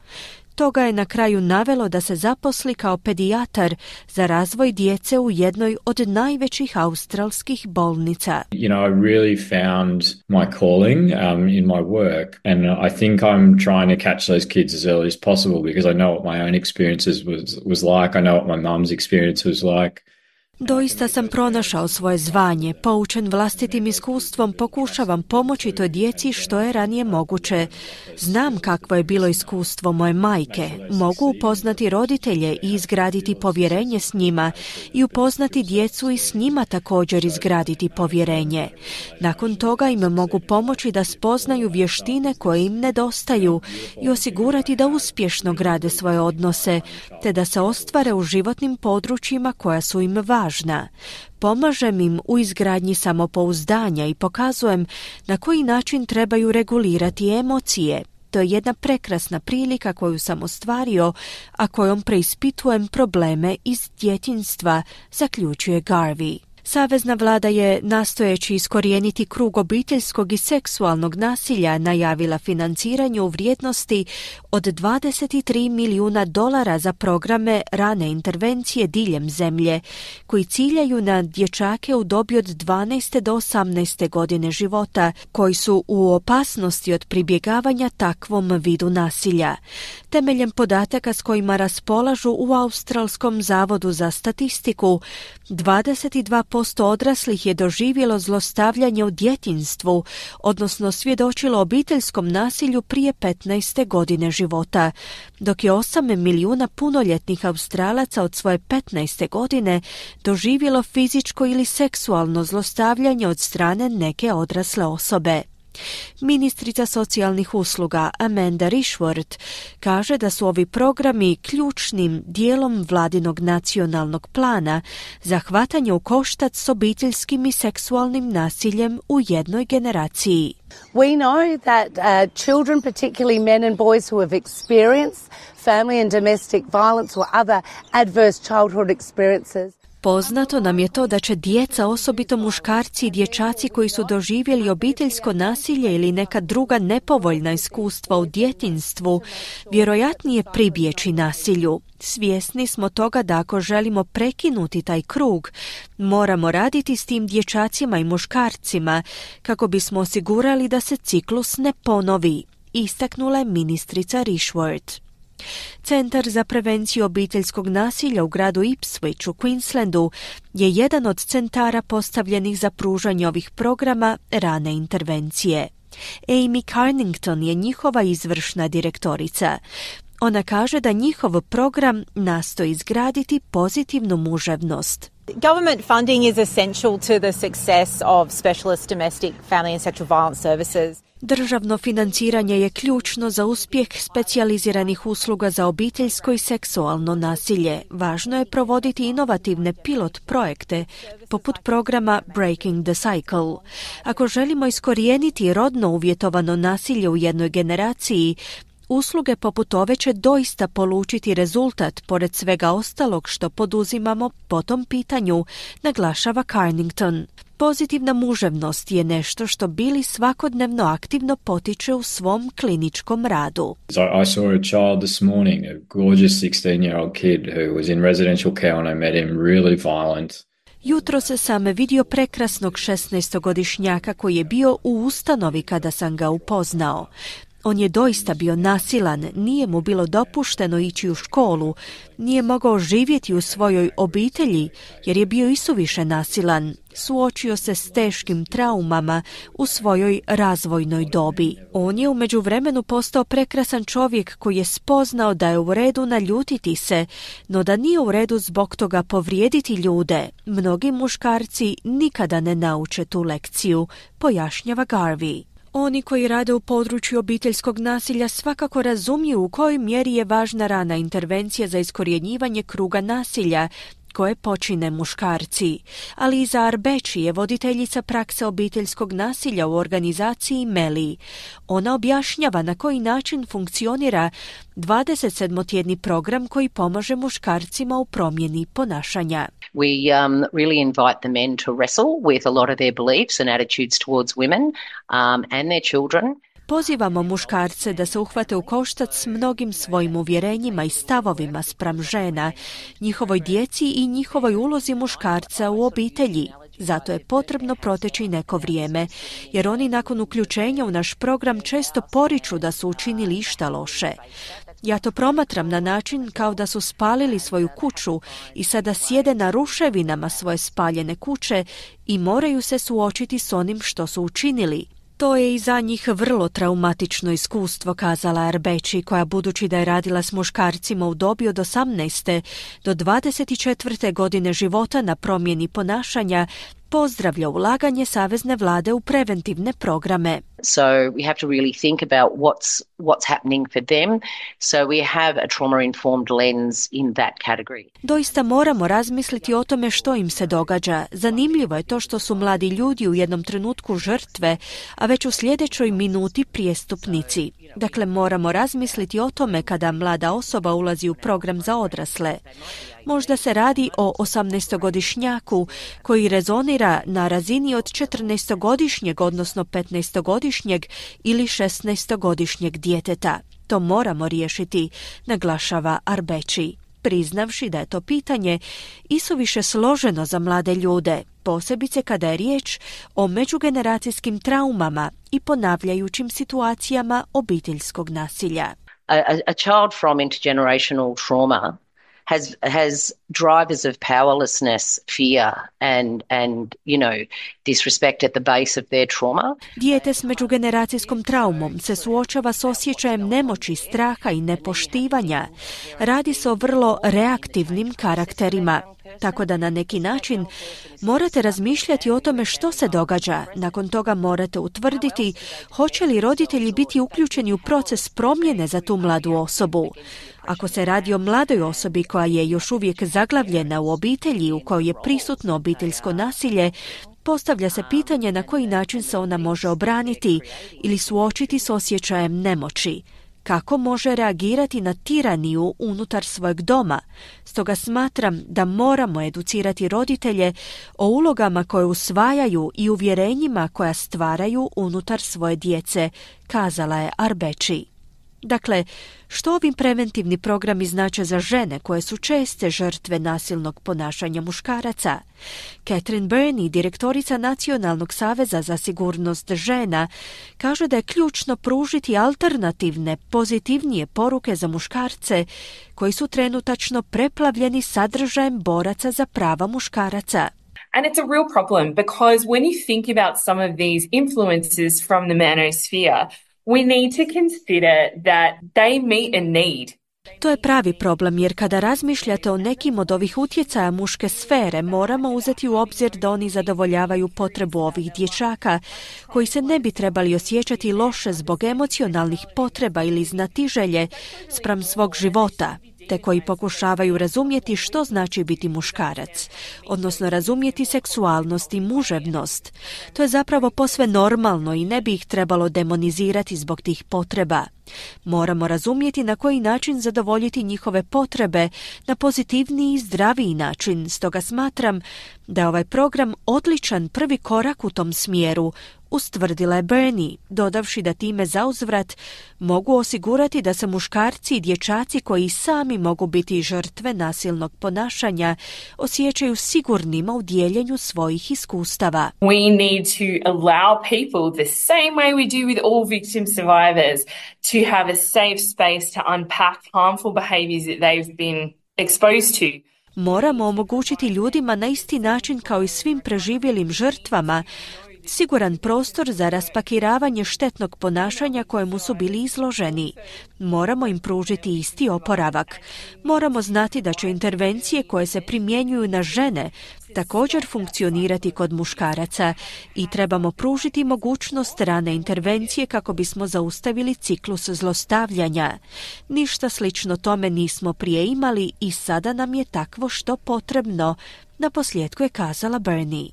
To ga je na kraju navelo da se zaposli kao pedijatar za razvoj djece u jednoj od najvećih australskih bolnica. You know, I really found my calling um, in my work, and I think I'm trying to catch those kids as early as possible because I know what my own experiences was, was like. I know what my mum's experience was like. Doista sam pronašao svoje zvanje. Poučen vlastitim iskustvom pokušavam pomoći toj djeci što je ranije moguće. Znam kakvo je bilo iskustvo moje majke. Mogu upoznati roditelje i izgraditi povjerenje s njima i upoznati djecu i s njima također izgraditi povjerenje. Nakon toga im mogu pomoći da spoznaju vještine koje im nedostaju i osigurati da uspješno grade svoje odnose, te da se ostvare u životnim područjima koja su im važna. Pomažem im u izgradnji samopouzdanja i pokazujem na koji način trebaju regulirati emocije. To je jedna prekrasna prilika koju sam ostvario, a kojom preispitujem probleme iz djetinjstva, zaključuje Garvey. Savezna vlada je, nastojeći iskorijeniti krug obiteljskog i seksualnog nasilja, najavila financiranje u vrijednosti od dvadeset tri milijuna dolara za programe rane intervencije diljem zemlje, koji ciljaju na dječake u dobi od dvanaeste do osamnaeste godine života, koji su u opasnosti od pribjegavanja takvom vidu nasilja. Temeljem podataka s kojima raspolažu u Australskom zavodu za statistiku, dvadeset dva posto odraslih je doživjelo zlostavljanje u djetinjstvu, odnosno svjedočilo obiteljskom nasilju prije petnaeste godine života, dok je osam milijuna punoljetnih Australaca od svoje petnaeste godine doživjelo fizičko ili seksualno zlostavljanje od strane neke odrasle osobe. Ministrica socijalnih usluga Amanda Rishworth kaže da su ovi programi ključnim dijelom vladinog nacionalnog plana za hvatanje u koštac s obiteljskim i seksualnim nasiljem u jednoj generaciji. We know that uh, children, particularly men and boys who have experienced family and domestic violence or other adverse childhood experiences, Poznato nam je to da će djeca, osobito muškarci i dječaci koji su doživjeli obiteljsko nasilje ili neka druga nepovoljna iskustva u djetinjstvu, vjerojatnije pribjeći nasilju. Svjesni smo toga da ako želimo prekinuti taj krug, moramo raditi s tim dječacima i muškarcima kako bismo osigurali da se ciklus ne ponovi, istaknula je ministrica Rishworth. Centar za prevenciju obiteljskog nasilja u gradu Ipswich u Queenslandu je jedan od centara postavljenih za pružanje ovih programa rane intervencije. Amy Carnington je njihova izvršna direktorica. Ona kaže da njihov program nastoji izgraditi pozitivnu muževnost. Government funding is essential to the success of specialist domestic family and sexual violence services. Državno financiranje je ključno za uspjeh specijaliziranih usluga za obiteljsko i seksualno nasilje. Važno je provoditi inovativne pilot projekte, poput programa Breaking the Cycle. Ako želimo iskorijeniti rodno uvjetovano nasilje u jednoj generaciji, usluge poput ove će doista polučiti rezultat pored svega ostalog što poduzimamo po tom pitanju, naglašava Carnington. Pozitivna muževnost je nešto što Billy svakodnevno aktivno potiče u svom kliničkom radu. I saw a child this morning, a gorgeous sixteen-year-old kid who was in residential care when I met him, really violent. Jutro se sam vidio prekrasnog šesnaestogodišnjaka koji je bio u ustanovi kada sam ga upoznao. On je doista bio nasilan, nije mu bilo dopušteno ići u školu, nije mogao živjeti u svojoj obitelji jer je bio isuviše nasilan. Suočio se s teškim traumama u svojoj razvojnoj dobi. On je u međuvremenu postao prekrasan čovjek koji je spoznao da je u redu naljutiti se, no da nije u redu zbog toga povrijediti ljude. Mnogi muškarci nikada ne nauče tu lekciju, pojašnjava Garvey. Oni koji rade u području obiteljskog nasilja svakako razumiju u kojoj mjeri je važna rana intervencija za iskorjenjivanje kruga nasilja koje počine muškarci. Ali Iza Arbeći je voditeljica prakse obiteljskog nasilja u organizaciji Meli. Ona objašnjava na koji način funkcionira dvadesetsedmotjedni program koji pomaže muškarcima u promjeni ponašanja. We um, really invite the men to wrestle with a lot of their beliefs and attitudes towards women um, and their children. Pozivamo muškarce da se uhvate u koštac s mnogim svojim uvjerenjima i stavovima spram žena, njihovoj djeci i njihovoj ulozi muškarca u obitelji. Zato je potrebno proteći neko vrijeme, jer oni nakon uključenja u naš program često poriču da su učinili išta loše. Ja to promatram na način kao da su spalili svoju kuću i sada sjede na ruševinama svoje spaljene kuće i moraju se suočiti s onim što su učinili. To je i za njih vrlo traumatično iskustvo, kazala Arbeći, koja budući da je radila s muškarcima u dobi od osamnaeste do dvadeset četvrte godine života na promjeni ponašanja, pozdravlja ulaganje savezne vlade u preventivne programe. So we have to really think about what's what's happening for them. So we have a trauma-informed lens in that category. Doista moramo razmisliti o tome što im se događa. Zanimljivo je to što su mladi ljudi u jednom trenutku žrtve, a već u sljedećoj minuti prijestupnici. Dakle, moramo razmisliti o tome kada mlada osoba ulazi u program za odrasle. Možda se radi o osamnaestogodišnjaku koji rezonira na razini od četrnaestogodišnjeg, odnosno petnaestogodišnjeg ili šesnaestogodišnjeg djeteta. To moramo riješiti, naglašava Arbeći, priznavši da je to pitanje isuviše složeno za mlade ljude, posebice kada je riječ o međugeneracijskim traumama i ponavljajućim situacijama obiteljskog nasilja. A, a child from intergenerational trauma has has drivers of powerlessness, fear and and you know disrespect at the base of their trauma. Dijete s međugeneracijskom traumom se suočava s osjećajem nemoći, straha i nepoštivanja. Radi se o vrlo reaktivnim karakterima. Tako da na neki način morate razmišljati o tome što se događa. Nakon toga morate utvrditi hoće li roditelji biti uključeni u proces promjene za tu mladu osobu. Ako se radi o mladoj osobi koja je još uvijek zaglavljena u obitelji u kojoj je prisutno obiteljsko nasilje, postavlja se pitanje na koji način se ona može obraniti ili suočiti s osjećajem nemoći. Kako može reagirati na tiraniju unutar svojeg doma? Stoga smatram da moramo educirati roditelje o ulogama koje usvajaju i uvjerenjima koja stvaraju unutar svoje djece, kazala je Arbeći. Dakle, što ovi preventivni programi znače za žene koje su česte žrtve nasilnog ponašanja muškaraca? Catherine Burney, direktorica Nacionalnog saveza za sigurnost žena, kaže da je ključno pružiti alternativne, pozitivnije poruke za muškarce koji su trenutačno preplavljeni sadržajem boraca za prava muškaraca. And it's a real problem because when you think about some of these influences from the manosphere, we need to consider that they meet a need. To je pravi problem, jer kada razmišljate o nekim od ovih utjecaja muške sfere, moramo uzeti u obzir da oni zadovoljavaju potrebu ovih dječaka, koji se ne bi trebali osjećati loše zbog emocionalnih potreba ili znatiželje spram svog života, te koji pokušavaju razumjeti što znači biti muškarac, odnosno razumjeti seksualnost i muževnost. To je zapravo posve normalno i ne bi ih trebalo demonizirati zbog tih potreba. Moramo razumjeti na koji način zadovoljiti njihove potrebe na pozitivniji i zdraviji način, stoga smatram da je ovaj program odličan prvi korak u tom smjeru, ustvrdila je Bernie, dodavši da time zauzvrat mogu osigurati da se muškarci i dječaci koji sami mogu biti žrtve nasilnog ponašanja osjećaju sigurnima u dijeljenju svojih iskustava. We need to allow people, the same way we do with all victim survivors, to have a safe space to unpack harmful behaviors that they've been exposed to. Moramo omogućiti ljudima na isti način kao i svim preživjelim žrtvama siguran prostor za raspakiravanje štetnog ponašanja kojemu su bili izloženi. Moramo im pružiti isti oporavak. Moramo znati da će intervencije koje se primjenjuju na žene također funkcionirati kod muškaraca i trebamo pružiti mogućnost rane intervencije kako bismo zaustavili ciklus zlostavljanja. Ništa slično tome nismo prije imali i sada nam je takvo što potrebno, naposljetku je kazala Bernie.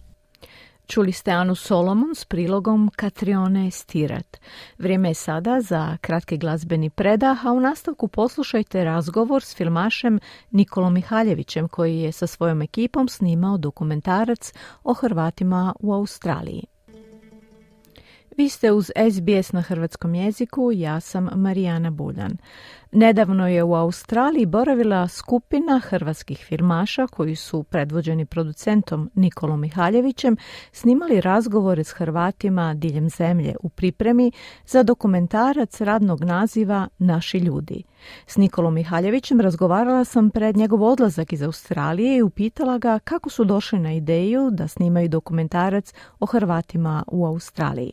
Čuli ste Anu Solomon s prilogom Katrione Stirat. Vrijeme je sada za kratki glazbeni predah, a u nastavku poslušajte razgovor s filmašem Nikolom Mihaljevićem koji je sa svojom ekipom snimao dokumentarac o Hrvatima u Australiji. Vi ste uz S B S na hrvatskom jeziku, ja sam Marijana Buljan. Nedavno je u Australiji boravila skupina hrvatskih filmaša koji su predvođeni producentom Nikolom Mihaljevićem snimali razgovore s Hrvatima diljem zemlje u pripremi za dokumentarac radnog naziva Naši ljudi. S Nikolom Mihaljevićem razgovarala sam pred njegov odlazak iz Australije i upitala ga kako su došli na ideju da snimaju dokumentarac o Hrvatima u Australiji.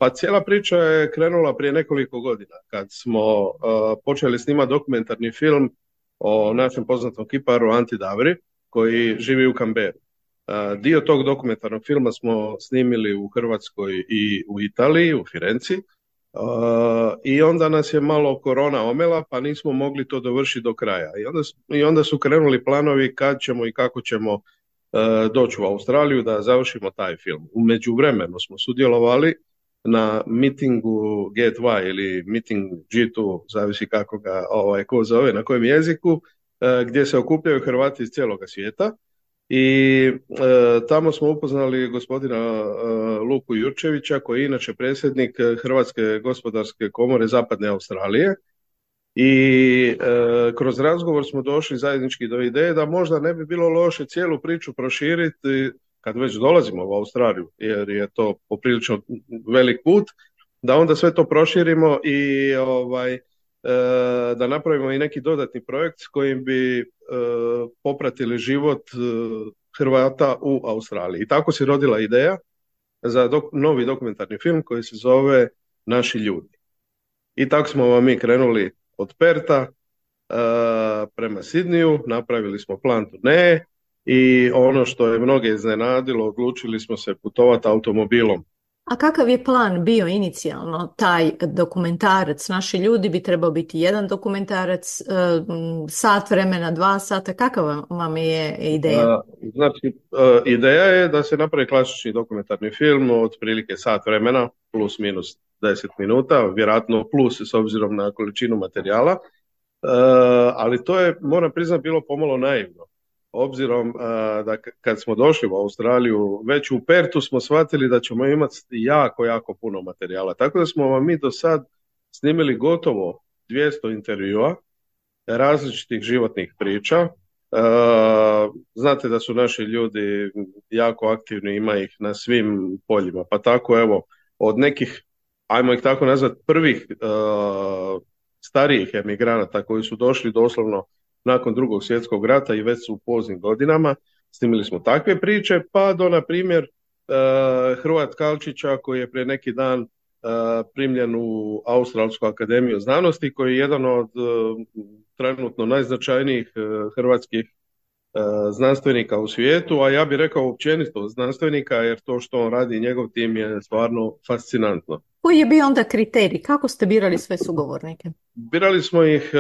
Pa cijela priča je krenula prije nekoliko godina kad smo uh, počeli snimati dokumentarni film o našem poznatom kiparu Anti Davri koji živi u Canberri. Uh, dio tog dokumentarnog filma smo snimili u Hrvatskoj i u Italiji, u Firenci. Uh, I onda nas je malo korona omela pa nismo mogli to dovršiti do kraja. I onda, i onda su krenuli planovi kad ćemo i kako ćemo uh, doći u Australiju da završimo taj film. U međuvremenu smo sudjelovali na mitingu G dva ili miting G dva, zavisi kako ga ovaj, ko zove, na kojem jeziku, e, gdje se okupljaju Hrvati iz cijeloga svijeta i e, tamo smo upoznali gospodina e, Luku Jurčevića koji je inače predsjednik Hrvatske gospodarske komore Zapadne Australije i e, kroz razgovor smo došli zajednički do ideje da možda ne bi bilo loše cijelu priču proširiti kad već dolazimo u Australiju, jer je to poprilično velik put, da onda sve to proširimo i ovaj, e, da napravimo i neki dodatni projekt s kojim bi e, popratili život e, Hrvata u Australiji. I tako se rodila ideja za dok, novi dokumentarni film koji se zove Naši ljudi. I tako smo vam mi krenuli od Perta e, prema Sidniju, napravili smo plan turneje, i ono što je mnoge iznenadilo, odlučili smo se putovati automobilom. A kakav je plan bio inicijalno? Taj dokumentarac, Naši ljudi, bi trebao biti jedan dokumentarac, sat vremena, dva sata. Kakav vam je ideja? Znači, ideja je da se napravi klasični dokumentarni film od prilike sat vremena, plus minus deset minuta, vjerojatno plus s obzirom na količinu materijala, ali to je, moram priznati, bilo pomalo naivno. Obzirom uh, da kad smo došli u Australiju, već u Pertu smo shvatili da ćemo imati jako, jako puno materijala. Tako da smo vam mi do sad snimili gotovo dvjesto intervjua, različitih životnih priča. Uh, znate da su naši ljudi jako aktivni, ima ih na svim poljima. Pa tako evo, od nekih, ajmo ih tako nazvati, prvih uh, starijih emigranata koji su došli doslovno nakon Drugog svjetskog rata i već su u poznim godinama, Snimili smo takve priče, pa do, na primjer, Hrvoja Tkalčića koji je prije neki dan primljen u Australsku akademiju znanosti, koji je jedan od trenutno najznačajnijih hrvatskih znanstvenika u svijetu, a ja bih rekao općenito znanstvenika, jer to što on radi i njegov tim je stvarno fascinantno. Koji je bio onda kriterij? Kako ste birali sve sugovornike? Birali smo ih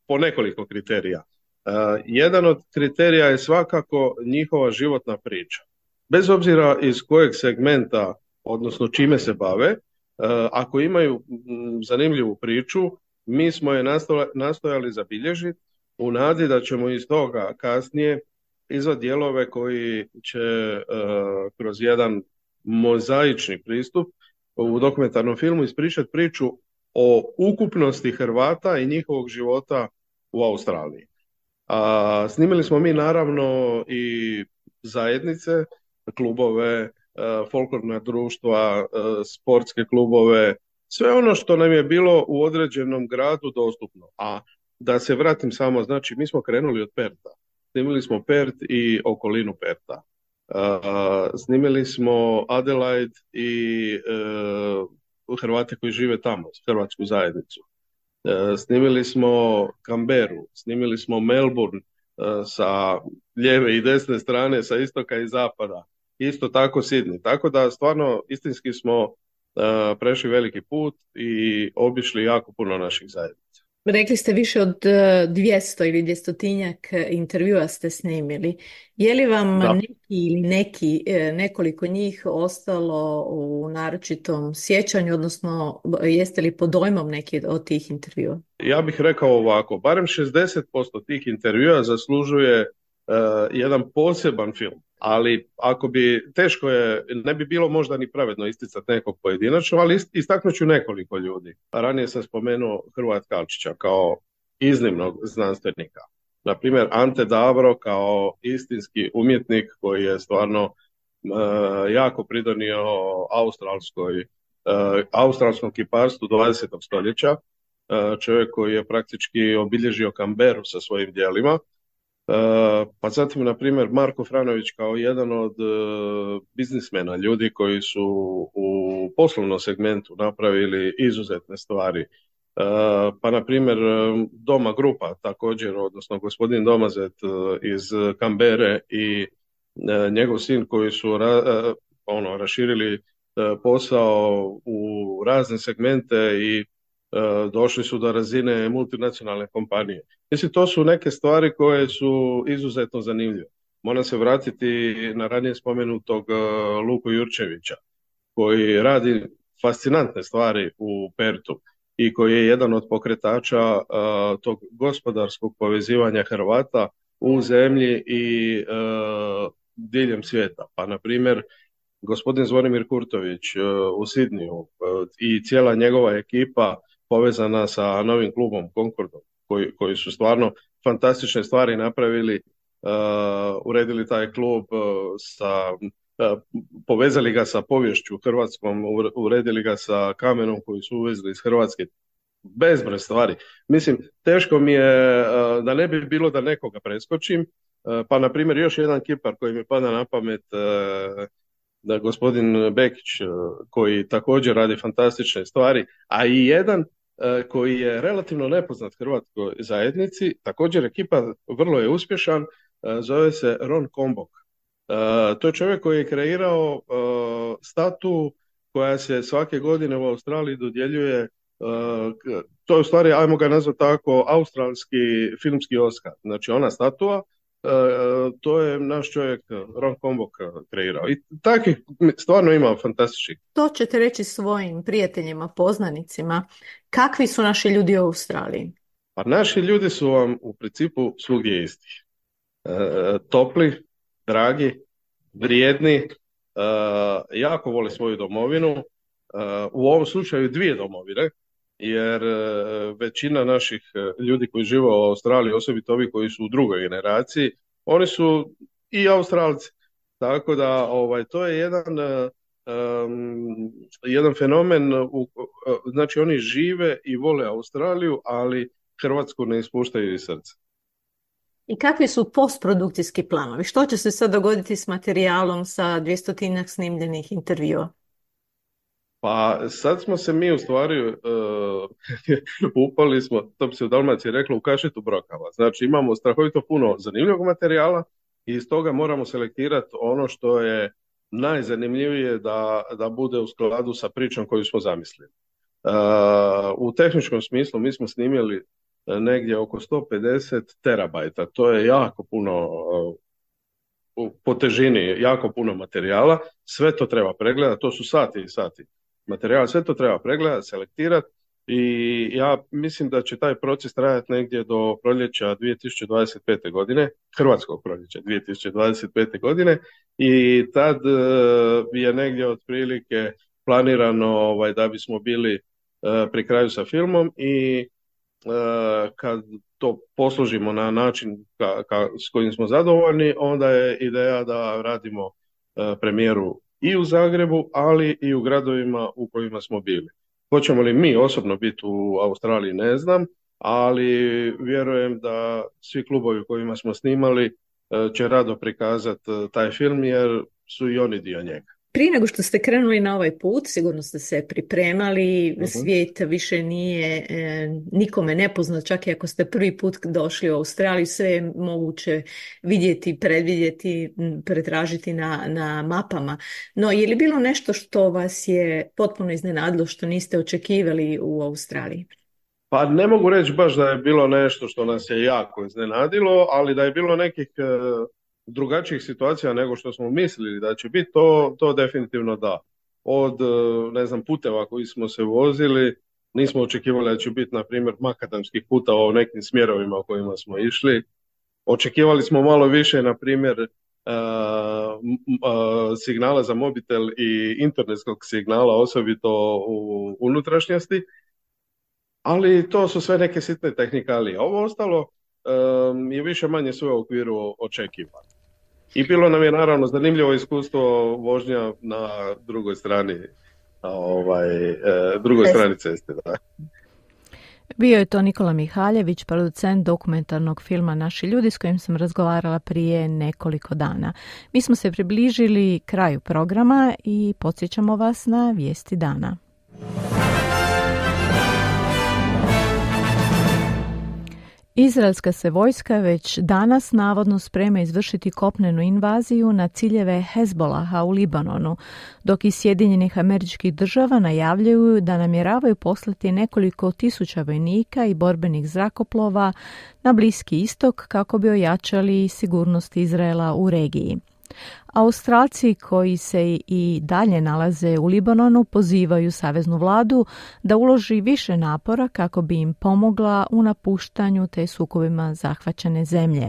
po nekoliko kriterija. Jedan od kriterija je svakako njihova životna priča. Bez obzira iz kojeg segmenta, odnosno čime se bave, ako imaju zanimljivu priču, mi smo je nastojali zabilježiti u nadi da ćemo iz toga kasnije izvati dijelove koji će kroz jedan mozaični pristup u dokumentarnom filmu ispričati priču o ukupnosti Hrvata i njihovog života u Australiji. A, snimili smo mi naravno i zajednice, klubove, folklorna društva, sportske klubove, sve ono što nam je bilo u određenom gradu dostupno. A da se vratim samo, znači mi smo krenuli od Perta. Snimili smo Pert i okolinu Perta. Snimili smo Adelaide i Hrvate koji žive tamo, hrvatsku zajednicu. Snimili smo Canberru, snimili smo Melbourne sa lijeve i desne strane, sa istoka i zapada. Isto tako Sydney. Tako da stvarno istinski smo uh, prešli veliki put i obišli jako puno naših zajednica. Rekli ste više od dvjesto ili dvjestotinjak intervjua ste snimili. Je li vam da. neki ili neki, nekoliko njih ostalo u naročitom sjećanju, odnosno jeste li pod dojmom neki od tih intervjua? Ja bih rekao ovako, barem šezdeset posto tih intervjua zaslužuje uh, jedan poseban film. Ali ako bi, teško je, ne bi bilo možda ni pravedno isticati nekog pojedinačno, ali istaknut ću nekoliko ljudi. Ranije sam spomenuo Hrvoja Tkalčića kao iznimnog znanstvenika. Na primjer, Ante Davro kao istinski umjetnik koji je stvarno uh, jako pridonio australskoj, uh, australskom kiparstvu dvadesetog stoljeća. Uh, čovjek koji je praktički obilježio Canberru sa svojim djelima. Uh, pa zatim, na primjer, Marko Franović kao jedan od uh, biznismena, ljudi koji su u poslovnom segmentu napravili izuzetne stvari. Uh, pa, na primjer, Doma Grupa također, odnosno gospodin Domazet uh, iz Canberre i uh, njegov sin koji su ra, uh, ono, raširili uh, posao u razne segmente i došli su do razine multinacionalne kompanije. Mislim, to su neke stvari koje su izuzetno zanimljive. Moram se vratiti na ranije spomenutog Luku Jurčevića, koji radi fascinantne stvari u Pertu i koji je jedan od pokretača uh, tog gospodarskog povezivanja Hrvata u zemlji i uh, diljem svijeta. Pa, na primjer, gospodin Zvonimir Kurtović uh, u Sidniju uh, i cijela njegova ekipa povezana sa novim klubom Concordom, koji, koji su stvarno fantastične stvari napravili, uh, uredili taj klub, uh, sa, uh, povezali ga sa poviješću hrvatskom, uredili ga sa kamenom koji su uvezli iz Hrvatske. Bezbroj stvari. Mislim, teško mi je uh, da ne bi bilo da nekoga preskočim, uh, pa na primjer još jedan kipar koji mi pada na pamet, uh, da gospodin Bekić, uh, koji također radi fantastične stvari, a i jedan koji je relativno nepoznat hrvatskoj zajednici, također ekipa vrlo je uspješan, zove se Ron Kombok. To je čovjek koji je kreirao statu koja se svake godine u Australiji dodjeljuje, to je u stvari, ajmo ga nazvati tako, australski filmski Oscar. Znači ona statua, to je naš čovjek Ron Kombok kreirao. I takvih stvarno ima fantastičnih. To ćete reći svojim prijateljima, poznanicima. Kakvi su naši ljudi u Australiji? Pa naši ljudi su vam u principu svugdje isti. E, topli, dragi, vrijedni, e, jako vole svoju domovinu. E, u ovom slučaju dvije domovine, jer većina naših ljudi koji žive u Australiji, osobito ovi koji su u drugoj generaciji, oni su i Australci. Tako da ovaj, to je jedan, um, jedan fenomen, u, znači oni žive i vole Australiju, ali Hrvatsku ne ispuštaju iz srca. I kakvi su postprodukcijski planovi? Što će se sad dogoditi s materijalom sa dvjestotinjak snimljenih intervjua? Pa sad smo se mi u stvari uh, upali smo, to bi se u Dalmaciji reklo, u kašitu brokava. Znači imamo strahovito puno zanimljivog materijala i iz toga moramo selektirati ono što je najzanimljivije da, da bude u skladu sa pričom koju smo zamislili. Uh, u tehničkom smislu mi smo snimili negdje oko sto pedeset terabajta, to je jako puno uh, po težini, jako puno materijala, sve to treba pregledati, to su sati i sati materijala, sve to treba pregledati, selektirati i ja mislim da će taj proces trajati negdje do proljeća dvije tisuće dvadeset pete. godine, hrvatskog proljeća dvije tisuće dvadeset pete. godine i tad uh, je negdje otprilike planirano ovaj, da bismo bili uh, pri kraju sa filmom i uh, kad to poslužimo na način ka, ka, s kojim smo zadovoljni, onda je ideja da radimo uh, premijeru i u Zagrebu, ali i u gradovima u kojima smo bili. Hoćemo li mi osobno biti u Australiji, ne znam, ali vjerujem da svi klubovi u kojima smo snimali će rado prikazati taj film jer su i oni dio njega. Prije nego što ste krenuli na ovaj put, sigurno ste se pripremali, uh-huh. Svijet više nije e, nikome nepoznat, čak i ako ste prvi put došli u Australiju, sve je moguće vidjeti, predvidjeti, pretražiti na, na mapama. No, je li bilo nešto što vas je potpuno iznenadilo, što niste očekivali u Australiji? Pa ne mogu reći baš da je bilo nešto što nas je jako iznenadilo, ali da je bilo nekih e, drugačijih situacija nego što smo mislili da će biti, to, to definitivno da. Od, ne znam, puteva koji smo se vozili, nismo očekivali da će biti, na primjer, makadamskih puta o nekim smjerovima u kojima smo išli. Očekivali smo malo više, na primjer, uh, uh, signala za mobitel i internetskog signala, osobito u unutrašnjosti, ali to su sve neke sitne tehnikalije. Ovo ostalo um, je više manje sve u okviru očekivanja. I bilo nam je naravno zanimljivo iskustvo vožnja na drugoj strani, ovaj, eh, drugoj strani ceste. Da. Bio je to Nikola Mihaljević, producent dokumentarnog filma Naši ljudi, s kojim sam razgovarala prije nekoliko dana. Mi smo se približili kraju programa i podsjećamo vas na vijesti dana. Izraelska se vojska već danas navodno sprema izvršiti kopnenu invaziju na ciljeve Hezbolaha u Libanonu, dok i Sjedinjenih Američkih Država najavljuju da namjeravaju poslati nekoliko tisuća vojnika i borbenih zrakoplova na Bliski istok kako bi ojačali sigurnost Izraela u regiji. Australci koji se i dalje nalaze u Libanonu pozivaju saveznu vladu da uloži više napora kako bi im pomogla u napuštanju te sukobima zahvaćene zemlje.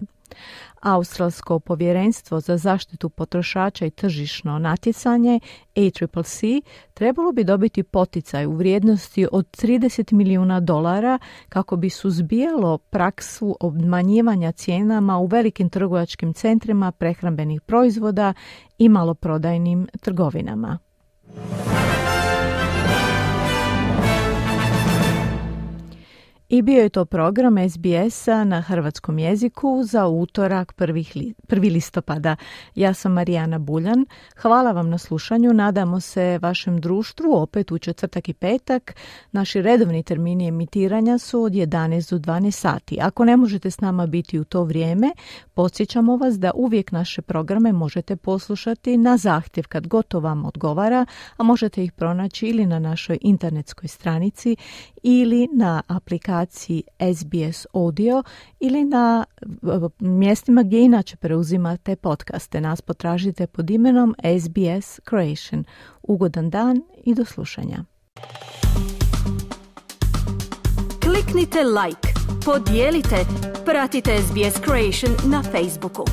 Australsko povjerenstvo za zaštitu potrošača i tržišno natjecanje A C C C trebalo bi dobiti poticaj u vrijednosti od trideset milijuna dolara kako bi suzbijalo praksu obmanjivanja cijenama u velikim trgovačkim centrima prehrambenih proizvoda i maloprodajnim trgovinama. I bio je to program S B S-a na hrvatskom jeziku za utorak prvi listopada. Ja sam Marijana Buljan. Hvala vam na slušanju. Nadamo se vašem društvu opet u četvrtak i petak. Naši redovni termini emitiranja su od jedanaest do dvanaest sati. Ako ne možete s nama biti u to vrijeme, podsjećamo vas da uvijek naše programe možete poslušati na zahtjev kad god to vam odgovara, a možete ih pronaći ili na našoj internetskoj stranici ili na aplikaciji S B S Audio ili na mjestima gdje inače preuzimate podcaste. Nas potražite pod imenom S B S Croatian. Ugodan dan i do slušanja. Kliknite like, podijelite, pratite S B S Croatian na Facebooku.